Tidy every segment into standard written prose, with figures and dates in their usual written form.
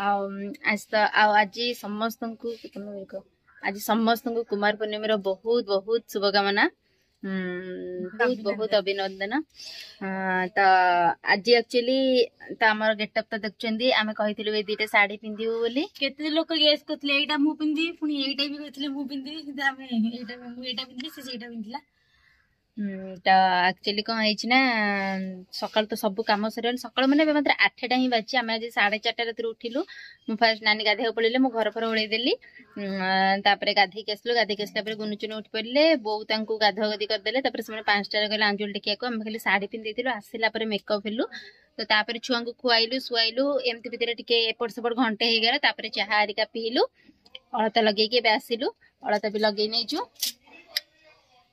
ଆଉ ଆଜି ତ ଆଉ ଆଜି ସମସ୍ତଙ୍କୁ ଆଜି ସମସ୍ତଙ୍କୁ କୁମାର ପୂର୍ଣ୍ଣିମାର ବହୁତ ବହୁତ ଶୁଭକାମନା, ବହୁତ ବହୁତ ଅଭିନନ୍ଦନ। ତ ଆଜି ଆକ୍ଚୁଆଲି ତ ଆମର ଗେଟଅପ୍ ତ ଦେଖୁଛନ୍ତି, ଆମେ କହିଥିଲୁ ଏ ଦିଟା ଶାଢୀ ପିନ୍ଧିବୁ ବୋଲି। କେତେ ଲୋକ ଗେସ୍ କରୁଥିଲେ ଏଇଟା ମୁଁ ପିନ୍ଧିବି, ପୁଣି ଏଇଟା ବି କହିଥିଲେ ମୁଁ ପିନ୍ଧିବି, କିନ୍ତୁ ଆମେ ଏଇଟା ମୁଁ ଏଇଟା ପିନ୍ଧିଲି, ସେ ସେଇଟା ପିନ୍ଧିଲା। ତ ଆକ୍ଚୁଆଲି କଣ ହେଇଛି ନା, ସକାଳୁ ତ ସବୁ କାମ ସରିଗଲା। ସକାଳୁ ମାନେ ଏବେ ମାତ୍ର 8ଟା ହିଁ ବାଜିଛି। ଆମେ ଆଜି 4:30 ରାତିରୁ ଉଠିଲୁ। ମୁଁ ଫାଷ୍ଟ ନାନୀ ଗାଧେଇବାକୁ ପଳେଇଲେ, ମୁଁ ଘର ଫର ଓଳେଇ ଦେଲି। ତାପରେ ଗାଧେଇକି ଆସିଲୁ। ଗାଧେଇକି ଆସିଲା ପରେ ଗୁନୁଚୁନୁ ଉଠି ପଡ଼ିଲେ, ବୋଉ ତାଙ୍କୁ ଗାଧୁଆ ଗାଧି କରିଦେଲେ। ତାପରେ ସେମାନେ 5ଟାରେ ଗଲେ ଆଞ୍ଜୁଳି ଟେକିବାକୁ। ଆମେ ଖାଲି ଶାଢୀ ପିନ୍ଧି ଦେଇଥିଲୁ। ଆସିଲା ପରେ ମେକଅପ୍ ହେଲୁ, ତ ତାପରେ ଛୁଆଙ୍କୁ ଖୁଆଇଲୁ ଶୁଆଇଲୁ। ଏମିତି ଭିତରେ ଟିକେ ଏପଟ ସେପଟ ଘଣ୍ଟେ ହେଇଗଲା। ତାପରେ ଚାହା ହେରିକା ପିଇଲୁ, ଅଳତା ଲଗେଇକି ଏବେ ଆସିଲୁ, ଅଳତା ବି ଲଗେଇ ନେଇଛୁ।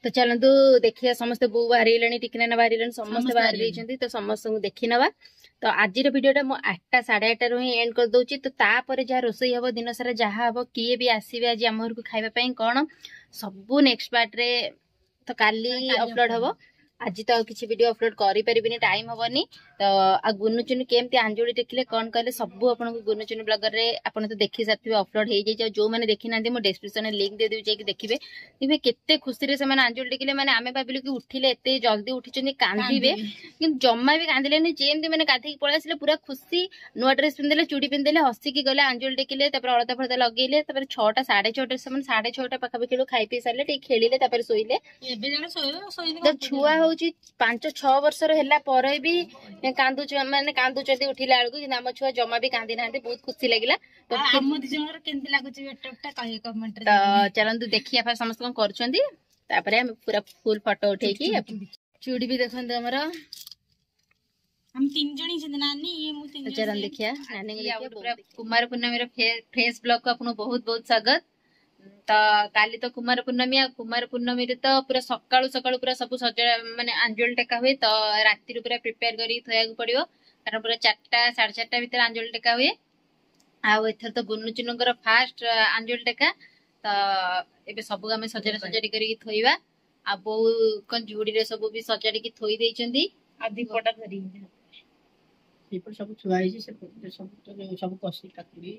ତ ଚାଲନ୍ତୁ ଦେଖିବା, ସମସ୍ତେ ବୋଉ ବାହାରିଗଲେଣି, ଟିକିନାନା ବାହାରିଗଲେଣି, ସମସ୍ତେ ବାହାରି ଦେଇଛନ୍ତି, ତ ସମସ୍ତଙ୍କୁ ଦେଖିନବା। ତ ଆଜିର ଭିଡିଓଟା ମୁଁ 8ଟା 8:30ରୁ ହିଁ ଏଣ୍ଡ କରିଦଉଛି। ତ ତାପରେ ଯାହା ରୋଷେଇ ହବ, ଦିନ ସାରା ଯାହା ହବ, କିଏ ବି ଆସିବେ ଆଜି ଆମ ଘରକୁ ଖାଇବା ପାଇଁ କଣ, ସବୁ ନେକ୍ସଟ ପାର୍ଟରେ ତ କାଲି ଅପଲୋଡ ହବ। ଆଜି ତ ଆଉ କିଛି ଭିଡିଓ ଅପଲୋଡ କରିପାରିବିନି, ଟାଇମ ହବନି। ତ ଆଉ ଗୁନୁଚୁନୁ କେମିତି ଆଞ୍ଜୁଳି ଟେକିଲେ କଣ କଲେ ସବୁ ଆପଣଙ୍କୁ ଗୁନୁଚୁନୁ ବ୍ଲଗରରେ ଆପଣ ତ ଦେଖି ସାରିଥିବେ, ଅପଲୋଡ ହେଇଯାଇଛି। ଆଉ ଯୋଉମାନେ ଦେଖିନାହାନ୍ତି ମୁଁ ଡେସ୍କ୍ରିପସନରେ ଲିଙ୍କ ଦେଇଦେବି, ଯାଇକି ଦେଖିବେ। ଦେଖିବେ କେତେ ଖୁସିରେ ସେମାନେ ଆଞ୍ଜୁଳି ଟେକିଲେ। ମାନେ ଆମେ ଭାବିଲୁ କି ଉଠିଲେ ଏତେ ଜଲ୍ଦି ଉଠିଛନ୍ତି କାନ୍ଦିବେ, କିନ୍ତୁ ଜମା ବି କାନ୍ଦିଲେନି। ଯେମିତି ମାନେ ଗାଧେଇକି ପଳେଇ ଆସିଲେ ପୁରା ଖୁସି, ନୂଆ ଡ୍ରେସ ପିନ୍ଧିଲେ, ଚୁଡ଼ି ପିନ୍ଧିଲେ, ହସିକି ଗଲେ, ଆଞ୍ଜୁଳି ଟେକିଲେ, ତାପରେ ଅଳତା ଫଳତା ଲଗେଇଲେ। ତାପରେ 6ଟା 6:30, ସେମାନେ 6:30 ପାଖାପାଖି ବେଳକୁ ଖାଇ ପିଇ ସାରିଲେ, ଟିକେ ଖେଳିଲେ, ତାପରେ ଶୋଇଲେ। ଏବେ ଜଣେ ଶୋଇବ, ଶୋଇନି। ତ ଛୁଆ ହଉଛି 5-6 ବର୍ଷର ହେଲା ପରେ ବି କାନ୍ଦୁଛୁ, ମାନେ କାନ୍ଦୁଛନ୍ତି ଉଠିଲା ବେଳକୁ, କିନ୍ତୁ ଆମ ଛୁଆ ଜମା ବି କାନ୍ଦି ନାହାନ୍ତି। ବହୁତ ଖୁସି ଲାଗିଲା। ତ ଆମ ଦି ଜଣଙ୍କର କେମିତି ଲାଗୁଛି ଗେଟଅପ୍ ଟା କହିବେ କମେଣ୍ଟରେ। ତ ଚାଲନ୍ତୁ ଦେଖିବା ଫାଷ୍ଟ ସମସ୍ତେ କଣ କରୁଛନ୍ତି, ତାପରେ ଆମେ ପୁରା ଫୁଲ ଫଟୋ ଉଠେଇକି। ଚୁଡ଼ି ବି ଦେଖନ୍ତୁ ଆମର, ଆମେ ତିନି ଜଣ ହେଇଛନ୍ତି, ନାନୀ ଇଏ ମୁଁ ତିନି ଜଣ। ଚାଲନ୍ତୁ ଦେଖିବା ନାନୀଙ୍କୁ ଦେଖିବା। କୁମାର ପୂର୍ଣ୍ଣମୀର ଫ୍ରେଶ ବ୍ଲଗ କୁ ଆପଣଙ୍କୁ ବହୁତ ବହୁତ ସ୍ୱାଗତ। ତ କାଲି ତ କୁମାର ପୂର୍ଣ୍ଣମୀ, ଆଉ କୁମାର ପୂର୍ଣ୍ଣମୀରେ ତ ପୁରା ସକାଳୁ ସକାଳୁ ପୁରା ସବୁ ସଜା ମାନେ ଆଞ୍ଜୁଳି ଟେକା ହୁଏ। ତ ରାତିରୁ ପୁରା ପ୍ରିପେୟାର କରିକି ଥୋଇବାକୁ ପଡିବ, କାରଣ ପୁରା 4ଟା 4:30 ଭିତରେ ଆଞ୍ଜୁଳି ଟେକା ହୁଏ। ଆଉ ଏଥର ତ ଗୁନୁଚୁନୁଙ୍କର ଫାଷ୍ଟ ଆଞ୍ଜୁଳି ଟେକା, ତ ଏବେ ସବୁ ଆମେ ସଜଡା ସଜାଡି କରିକି ଥୋଇବା। ଆଉ ବୋଉ କଣ ଝୁଡିରେ ସବୁ ବି ସଜାଡିକି ଥୋଇ ଦେଇଛନ୍ତି। ଆଉ ଦୀପଟା ଧରିକି ସେଇପଟେ ସବୁ ଥୁଆ ହେଇଛି। ସେପଟେ ସବୁ ସବୁ କଷି କାକୁଡି,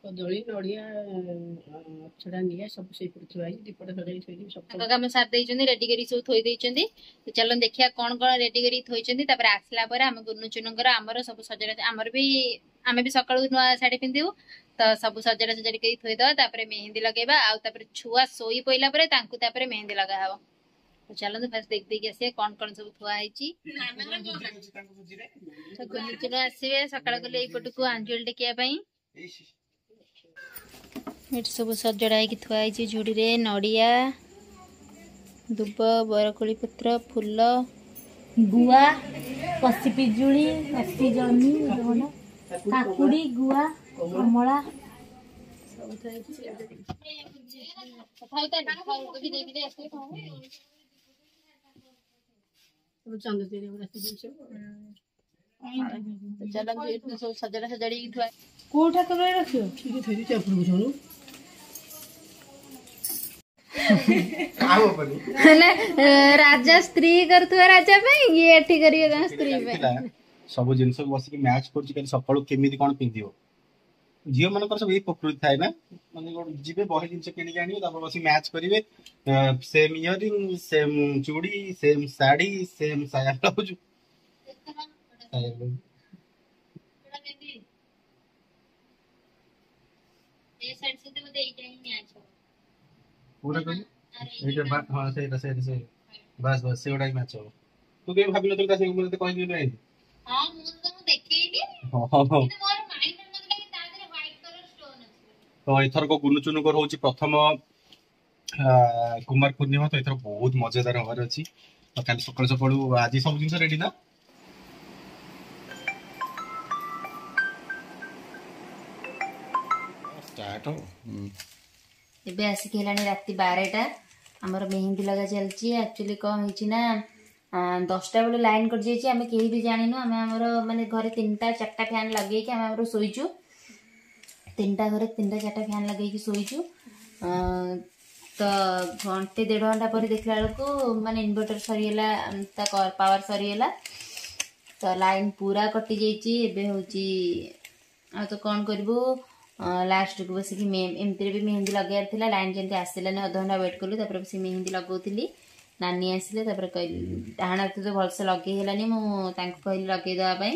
କଦଳୀ, ନଡିଆ, ଛଡା ନିଆ ସବୁ ସେଇପଟେ ଥୁଆ ହେଇଛି। ଦୀପଟା ସଜାଡି ଥୋଇଦେବି ସବୁ ତାଙ୍କ କାମ ସାରି ଦେଇଛନ୍ତି, ରେଡି କରିକି ସବୁ ଥୋଇ ଦେଇଛନ୍ତି। ତ ଚାଲନ୍ତୁ ଦେଖିବା କଣ କଣ ରେଡି କରିକି ଥୋଇଛନ୍ତି। ତାପରେ ଆସିଲା ପରେ ଆମେ ଗୁନୁଚୁନୁଙ୍କର ଆମର ସବୁ ସଜଡା, ଆମର ବି ଆମେ ବି ସକାଳୁ ନୂଆ ଶାଢୀ ପିନ୍ଧିବୁ, ତ ସବୁ ସଜଡା ସଜାଡି କରି ଥୋଇଦବା। ତାପରେ ମେହେନ୍ଦି ଲଗେଇବା, ଆଉ ତାପରେ ଛୁଆ ଶୋଇ ପଇଲା ପରେ ତାଙ୍କୁ ତାପରେ ମେହେନ୍ଦି ଲଗା ହବ। ତ ଚାଲନ୍ତୁ ଫାଷ୍ଟ ଦେଖି ଦେଇକି ଆସିବା କଣ କଣ ସବୁ ଥୁଆ ହେଇଛି। ତ ଗୁନୁଚୁନୁ ଆସିବେ ସକାଳ କଲେ ଏଇପଟକୁ ଆଞ୍ଜୁଳି ଟେକିବା ପାଇଁ। ଏଠି ସବୁ ସଜଡା ହେଇକି ଥୁଆ ହେଇଛି ଝୁଡିରେ, ନଡିଆ, ଦୁବ, ବରକୋଳି ପତ୍ର, ଫୁଲ, ଗୁଆ, କଷି ପିଜୁଳି, କଷି ଜହ୍ନି, କାକୁଡି, ଗୁଆ, କମଳା ସବୁ ଥୁଆ ହେଇଛି। ଚାଲନ୍ତୁ ଏଠି ସବୁ ସଜଡା ସଜାଡିକି ଥୁଆ। କୋଉ ଠାକୁର ରଖିବ? ମାନେ ରାଜା ସ୍ତ୍ରୀ କରୁଥିବା ରାଜା ପାଇଁ, ଇଏ ଏଠି କରିବେ ତାଙ୍କ ସ୍ତ୍ରୀ ପାଇଁ। ସବୁ ଜିନିଷକୁ ବସିକି ମ୍ୟାଚ୍ କରୁଛି କାଲି ସକାଳୁ କେମିତି କଣ ପିନ୍ଧିବ। ଝିଅ ମାନଙ୍କର ସବୁ ଏଇ ପ୍ରକୃତି ଥାଏ ନା, ମାନେ କଣ ଯିବେ ବହେ ଜିନିଷ କିଣିକି ଆଣିବେ, ତାପରେ ବସିକି ମ୍ୟାଚ୍ କରିବେ, ସେମ୍ ଇୟରିଂ, ସେମ୍ ଚୁଡ଼ି, ସେମ୍ ଶାଢୀ, ସେମ୍ ସାୟା ବ୍ଲାଉଜ। କୋଉଟା କହିଲୁ? ଏଇଟା ହଁ ସେଇଟା ସେଇଟା ସେଇଟା ବାସ୍ ବାସ୍ ସେଗୁଡା ହିଁ ମ୍ୟାଚ୍ ହବ। ତୁ କେବେ ଭାବିନଥିଲୁ ତା ସାଙ୍ଗେ ମୁଁ ତତେ କହିଲି ନାହିଁ? ହଁ ମୁଁ ତ ତମକୁ ଦେଖେଇଲି। ହଁ ହଁ। କିନ୍ତୁ ମୋର ମାଇଣ୍ଡ ନଥିଲା କି ତା ଦେହରେ ହ୍ୱାଇଟ କଲର ଷ୍ଟୋନ ଅଛି। ତ ଏଥରକ ଗୁନୁଚୁନୁଙ୍କର ହଉଛି ପ୍ରଥମ କୁମାର ପୂର୍ଣ୍ଣିମା, ତ ଏଥର ବହୁତ ମଜାଦାର ହବାର ଅଛି। ତ କାଲି ସକାଳୁ ସକାଳୁ ଆଜି ସବୁ ଜିନିଷ ରେଡି ନା? ଏବେ ଆସିକି ହେଲାଣି ରାତି 12ଟା, ଆମର ମେହେନ୍ଦି ଲଗା ଚାଲିଛି। ଆକ୍ଚୁଆଲି କଣ ହେଇଛି ନା, 10ଟା ବେଳେ ଲାଇନ କଟିଯାଇଛି, ଆମେ କେହି ବି ଜାଣିନୁ। ଆମେ ଆମର ମାନେ ଘରେ 3ଟା 4ଟା ଫ୍ୟାନ୍ ଲଗେଇକି ଆମେ ଆମର ଶୋଇଛୁ। 3ଟା ଘରେ 3ଟା 4ଟା ଫ୍ୟାନ୍ ଲଗେଇକି ଶୋଇଛୁ। ତ ଘଣ୍ଟେ ଦେଢ଼ ଘଣ୍ଟା ପରେ ଦେଖିଲା ବେଳକୁ ମାନେ ଇନଭର୍ଟର ସରିଗଲା, ତା ପାୱାର ସରିଗଲା, ତ ଲାଇନ ପୁରା କଟିଯାଇଛି। ଏବେ ହଉଛି ଆଉ ତ କ'ଣ କରିବୁ, ଲାଷ୍ଟକୁ ବସିକି ଏମିତିରେ ବି ମେହେନ୍ଦି ଲଗେଇବାର ଥିଲା। ଲାଇନ୍ ଯେମିତି ଆସିଲାନି, ଅଧଘଣ୍ଟା ୱେଟ୍ କଲୁ, ତାପରେ ବସିକି ମେହେନ୍ଦି ଲଗାଉଥିଲି। ନାନୀ ଆସିଲେ, ତାପରେ କହିଲି ଡାହାଣ ହାତ ତ ଭଲସେ ଲଗେଇ ହେଲାନି, ମୁଁ ତାଙ୍କୁ କହିଲି ଲଗେଇ ଦେବା ପାଇଁ।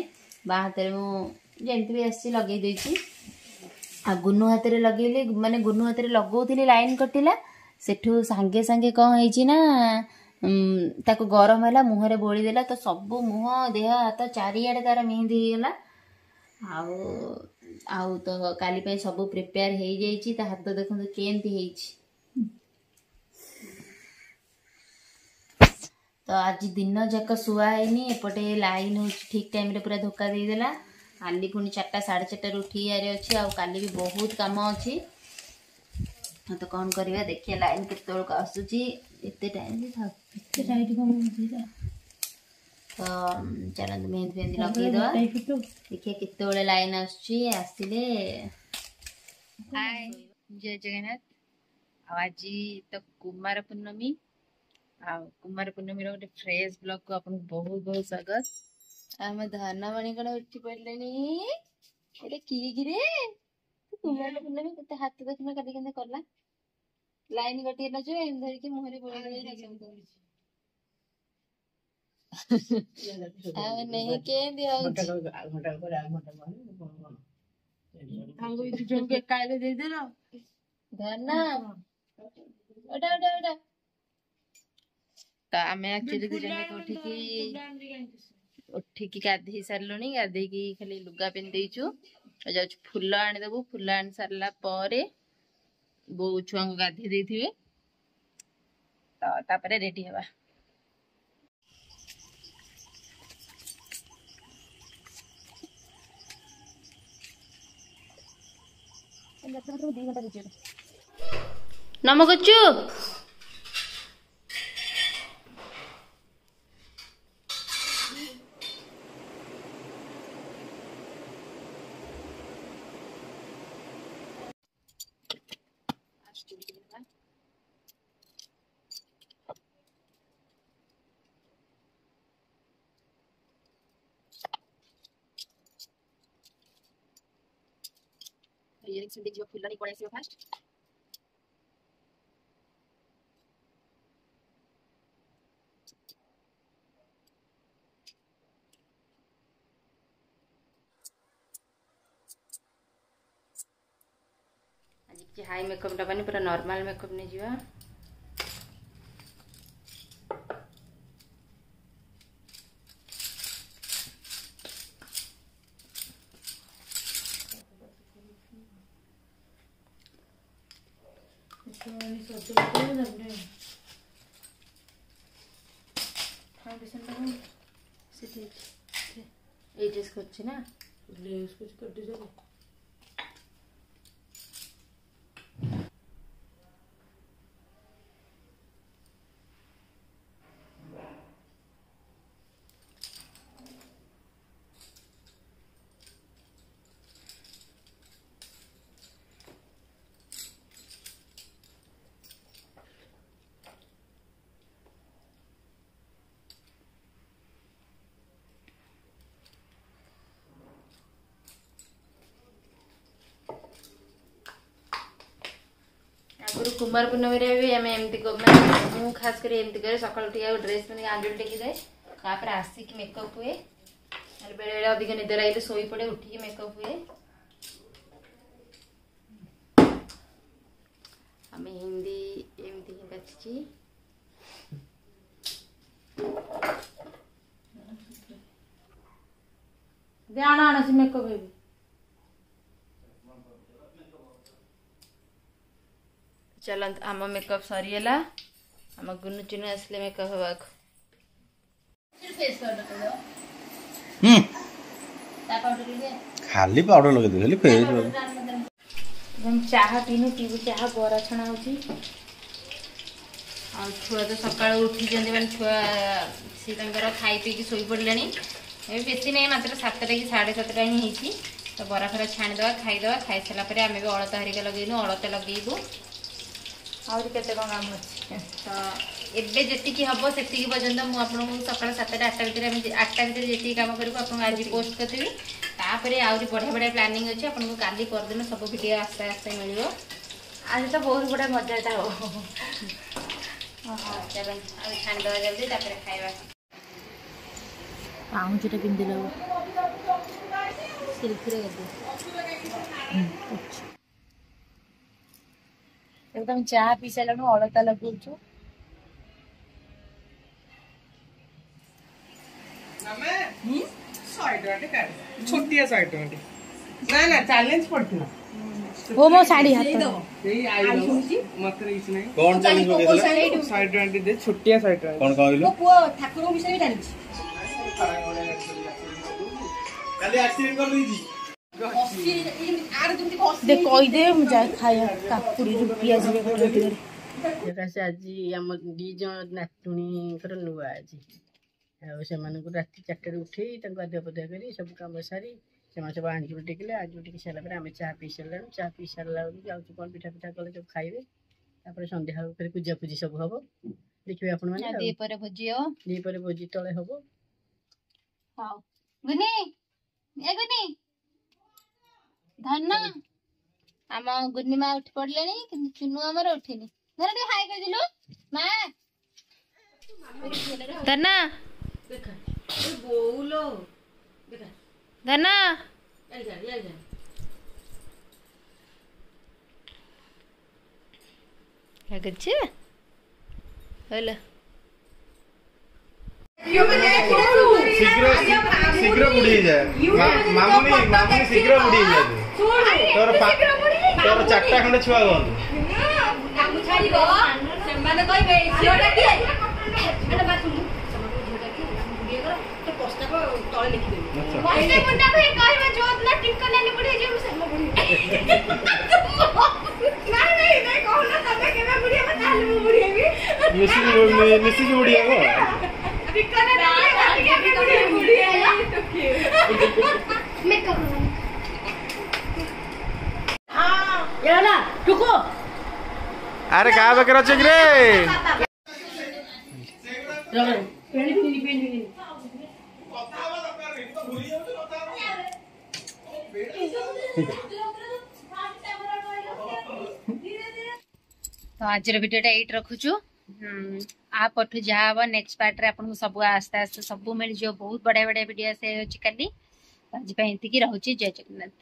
ବାଁ ହାତରେ ମୁଁ ଯେମିତି ବି ଆସିଛି ଲଗେଇ ଦେଇଛି। ଆଉ ଗୁନୁ ହାତରେ ଲଗେଇଲି, ମାନେ ଗୁନୁ ହାତରେ ଲଗାଉଥିଲି, ଲାଇନ୍ କଟିଲା। ସେଠୁ ସାଙ୍ଗେ ସାଙ୍ଗେ କ'ଣ ହେଇଛି ନା, ତାକୁ ଗରମ ହେଲା, ମୁହଁରେ ବୋଳିଦେଲା, ତ ସବୁ ମୁହଁ ଦେହ ହାତ ଚାରିଆଡ଼େ ତାର ମେହେନ୍ଦି ହେଇଗଲା। ଆଉ ଆଉ ତ କାଲି ପାଇଁ ସବୁ ପ୍ରିପେୟାର ହେଇଯାଇଛି। ତା ହାତ ଦେଖନ୍ତୁ କେମିତି ହେଇଛି। ତ ଆଜି ଦିନ ଯାକ ଶୁଆ ହେଇନି। ଏପଟେ ଲାଇନ୍ ହେଉଛି ଠିକ୍ ଟାଇମ୍ରେ ପୁରା ଧୋକା ଦେଇଦେଲା। କାଲି ପୁଣି 4ଟା 4:30ରୁ ଉଠିବାରେ ଅଛି, ଆଉ କାଲି ବି ବହୁତ କାମ ଅଛି। ତ କ'ଣ କରିବା, ଦେଖିବା ଲାଇନ୍ କେତେବେଳକୁ ଆସୁଛି। ଏତେ ଟାଇମ୍ ଥାଉ, ଏତେ ଟାଇଟ୍ କ'ଣ? ତ ଚାଲନ୍ତୁ ମେହେନ୍ଦି ଫେହେନ୍ଦି ଲଗେଇଦେବା, ଦେଖିବା କେତେବେଳେ ଲାଇନ୍ ଆସୁଛି। ଆସିଲେ। ହାଏ, ଜୟ ଜଗନ୍ନାଥ। ଆଉ ଆଜି ତ କୁମାର ପୂର୍ଣ୍ଣମୀ, ଆଉ କୁମାର ପୂର୍ଣ୍ଣମୀର ଗୋଟେ ଫ୍ରେଶ୍ ବ୍ଲଗକୁ ଆପଣଙ୍କୁ ବହୁତ ବହୁତ ସ୍ୱାଗତ। ଆମ ଧନମଣି କଣ ଉଠି ପଡ଼ିଲେଣି? ଏଇଟା କିଏ କିରେ? କୁମାର ପୂର୍ଣ୍ଣମୀ କେତେ ହାତ ଦେଖୁନ କାଲି କେମିତି କଲା। ଲାଇନ କଟିଗଲା ଯୋଉ ଏମିତି ଧରିକି ମୁହଁରେ ବୋଳି। ଆଉ ନେଇ କେମିତି ହଉଛି? ଏକାଳେ ଦେଇଦେଲ ଧନ। ଓଟା ଓଟା ଓଟା। ତ ଆମେ ଆକ୍ଚୁଆଲି ଦି ଜଣ ଯାକ ଉଠିକି ଗାଧେଇ ସାରିଲୁଣି। ଗାଧେଇକି ଖାଲି ଲୁଗା ପିନ୍ଧି ଦେଇଛୁ, ଯାଉଛୁ ଫୁଲ ଆଣିଦେବୁ। ଫୁଲ ଆଣି ସାରିଲା ପରେ ବୋଉ ଛୁଆଙ୍କୁ ଗାଧେଇ ଦେଇଥିବେ, ତ ତାପରେ ରେଡି ହେବା। ନମ କରୁଛୁ। ଇୟରିଙ୍ଗସ୍ ପିନ୍ଧିକି ଯିବ, ଫୁଲ ନେଇ ପଳେଇ ଆସିବ ଫାଷ୍ଟ। ଆଜି କିଛି ହାଇ ମେକଅପ୍ ନେବାନି, ପୁରା ନର୍ମାଲ ମେକଅପ୍ ନେଇଯିବା। ଫାଉଣ୍ଡେସନଟା ସେଠି ଏଇ ଡ୍ରେସ୍ କରୁଛି ନା ଡ୍ରେସ୍ କିଛି କରିଦେଇଛ। ଆଗରୁ କୁମାର ପୂର୍ଣ୍ଣମୀରେ ବି ଆମେ ଏମିତି, ମାନେ ମୁଁ ଖାସ କରି ଏମିତି କରେ। ସକାଳୁ ଉଠିକି ଆଉ ଡ୍ରେସ୍ ପିନ୍ଧିକି ଆଞ୍ଜୁଳି ଟେକିଯାଏ, ତାପରେ ଆସିକି ମେକଅପ୍ ହୁଏ। ନହେଲେ ବେଳେ ବେଳେ ଅଧିକ ନିଦ ଲାଗିଲେ ଶୋଇପଡ଼େ, ଉଠିକି ମେକଅପ୍ ହୁଏ। ଆଉ ମେହେନ୍ଦି ଏମିତି ହିଁ ବାଛିଛି। ଆଣ ଆଣ, ସେ ମେକଅପ୍ ହେବି। ଚାଲନ୍ତୁ, ଆମ ମେକଅପ୍ ସରିଗଲା। ଆମ ଗୁନୁ ଚୁନୁ ଆସିଲେ ମେକଅପ୍ ହେବାକୁ। ଖାଲି ପାଉଡର ଲଗେଇଦେବି, ଖାଲି ଫେସ୍। ଚାହା ପିଇନୁ, ପିଇବୁ ଚାହା। ବରା ଛଣା ହଉଛି। ଆଉ ଛୁଆ ତ ସକାଳୁ ଉଠିଛନ୍ତି, ମାନେ ଛୁଆ ସିଏ ତାଙ୍କର ଖାଇ ପିଇକି ଶୋଇ ପଡ଼ିଲେଣି। ଏବେ ବେଶୀ ନାହିଁ, ମାତ୍ର 7ଟା କି 7:30 ହିଁ ହେଇଛି। ତ ବରା ଫରା ଛାଣିଦେବା, ଖାଇଦେବା। ଖାଇସାରିଲା ପରେ ଆମେ ବି ଅଳତା ହରିକା ଲଗେଇନୁ, ଅଳତା ଲଗେଇବୁ। ଆହୁରି କେତେ କ'ଣ କାମ ଅଛି। ତ ଏବେ ଯେତିକି ହବ ସେତିକି ପର୍ଯ୍ୟନ୍ତ ମୁଁ ଆପଣଙ୍କୁ ସକାଳ 7ଟା 8ଟା ଭିତରେ, ଆମେ 8ଟା ଭିତରେ ଯେତିକି କାମ କରିବୁ ଆପଣଙ୍କୁ ଆଜି ପୋଷ୍ଟ କରିଦେବି। ତାପରେ ଆହୁରି ବଢ଼ିଆ ବଢ଼ିଆ ପ୍ଲାନିଂ ଅଛି। ଆପଣଙ୍କୁ କାଲି ପରଦିନ ସବୁ ଭିଡ଼ିଓ ଆସ୍ତେ ଆସ୍ତେ ମିଳିବ। ଆଜି ତ ବହୁତ ବଢିଆ ମଜାଟା ହବ। ଚାଲ ଆଉ ଛାଣିଦେବା ଜଲ୍ଦି, ତାପରେ ଖାଇବା। ପାଉଁଜିଟା ପିନ୍ଧିଲେ ହବ। ସେଲ୍ଫିରେ କରିଦିଅ। ଏବେ ତମେ ଚା ପିଇ ସାରିଲାଣି, ଅଳତା ଲଗଉଛୁ। 100 ଟଙ୍କା କାଢେ, ଛୋଟିଆ 100 ଟଙ୍କା। ନା ନା, ଚ୍ୟାଲେଞ୍ଜ ପଡିଥିଲା। ଓ ମୋ ଶାଢୀ ହାତ। ଏଇ I ମତେ କିଛି ନାହିଁ। କଣ ଚ୍ୟାଲେଞ୍ଜ ପକେଇଥିଲା? 100 ଟଙ୍କା ଦେ, ଛୋଟିଆ 100 ଟଙ୍କା। କଣ କହିଲୁ? ପୁଅ ଠାକୁରଙ୍କ ବିଷୟରେ ବି ଜାଣିଛି। କାଲି ଆକ୍ସିଡେଣ୍ଟ କରିଦେଇଛି। ଦେ କହିଦେ, ମୁଁ ଯାଏ ଖାଇବା। କାକୁଡିରୁ ପିଆଜ କଟା। ସକାଶେ ଆଜି ଆମ ଦି ଜଣ ନାତୁଣୀଙ୍କର ନୂଆ ଆଜି, ଆଉ ସେମାନଙ୍କୁ ରାତି 4ଟାରୁ ଉଠେଇ ତାଙ୍କୁ ଗାଧୁଆ ପାଧୁଆ କରି ସବୁ କାମ ସାରି ସେମାନେ ସବୁ ଆଞ୍ଜୁଳି ଟେକିଲେ। ଆଞ୍ଜୁଳି ଟେକି ସାରିଲା ପରେ ଆମେ ଚା ପିଇ ସାରିଲାଣି। ଚା ପିଇ ସାରିଲା ବେଳକୁ ଯାଉଛୁ କ'ଣ ପିଠା ପିଠା କଲେ ସବୁ ଖାଇବେ। ତାପରେ ସନ୍ଧ୍ୟା ବେଳକୁ ଫେରେ ପୂଜା ପୂଜି ସବୁ ହବ, ଦେଖିବେ ଆପଣମାନେ। ଆଉ ଦ୍ୱିପହରେ ଭୋଜି ହବ। ଦ୍ୱିପହରେ ଭୋଜି ତଳେ ହବ। ହଉ ଗୁନି, ଏ ଗୁନି, ଧନ, ଆମ ଗୁନି ମା ଉଠି ପଡିଲେଣି, କିନ୍ତୁ ଚୁନୁ ଆମର ଉଠିନି। ଧର, ଟିକେ ହାଇ କହିଦେଲୁ ମା। ଧନ, ଧନ, ଲାଗୁଛି ହେଲା। ଶୀଘ୍ର ଶୀଘ୍ର ବୁଢୀ ହେଇଯାଏ ମାମୁନି। ମାମୁନି ଶୀଘ୍ର ବୁଢୀ ହେଇଯାଏ। ତୋର ଚାରିଟା ଖଣ୍ଡେ ଛୁଆ ହୁଅନ୍ତୁ। ସେମାନେ କହିବେ ଝିଅଟା କିଏ? ଏଟା ବା ଶୁଣୁ, ସେମାନେ ଝିଅଟା କିଏ? ବୁଢୀ ହେଇଗଲା ତ ପ୍ରସ୍ତାବ ତଳେ ଲେଖିଦେବେ। କହିବ ଯୋଉଦିନ ଟିଙ୍କ ନାନୀ ବୁଢୀ ହେଇଯିବ, ମୁଁ ସେଦିନ ବୁଢୀ। ନାଇଁ ନାଇଁ ନାଇଁ, କହୁନ ତମେ କେବେ ବୁଢୀ ହେବ, ତାହେଲେ ମୁଁ ବୁଢୀ ହେବି। ମିଶିକି ମିଶିକି ବୁଢୀ ହବ। ଟିଙ୍କ ନାନୀ ବୁଢୀ ହେବି, ବୁଢୀ ମେକଅପ୍। ହେଲା ଟୁକୁ। ଆରେ, କାହା ପାଖରେ ଅଛି କିରେ? ପେଣି ପିନ୍ଧିନି, ପେଣି ପିନ୍ଧିନି। କଥା ହବା ଦରକାର ନାହିଁ ତ, ଭୁଲି ଯାଉଛୁ କଥା ହବା। ତ ଆଜିର ଭିଡ଼ିଓଟା ଏଇଠି ରଖୁଛୁ। ଆ ପରଠୁ ଯାହା ହବ ନେକ୍ସଟ ପାର୍ଟରେ ଆପଣଙ୍କୁ ସବୁ ଆସ୍ତେ ଆସ୍ତେ ସବୁ ମିଳିଯିବ। ବହୁତ ବଢିଆ ବଢିଆ ଭିଡ଼ିଓ ଆସିଯାଉଛି କାଲି। ଆଜି ପାଇଁ ଏତିକି ରହୁଛି। ଜୟ ଜଗନ୍ନାଥ।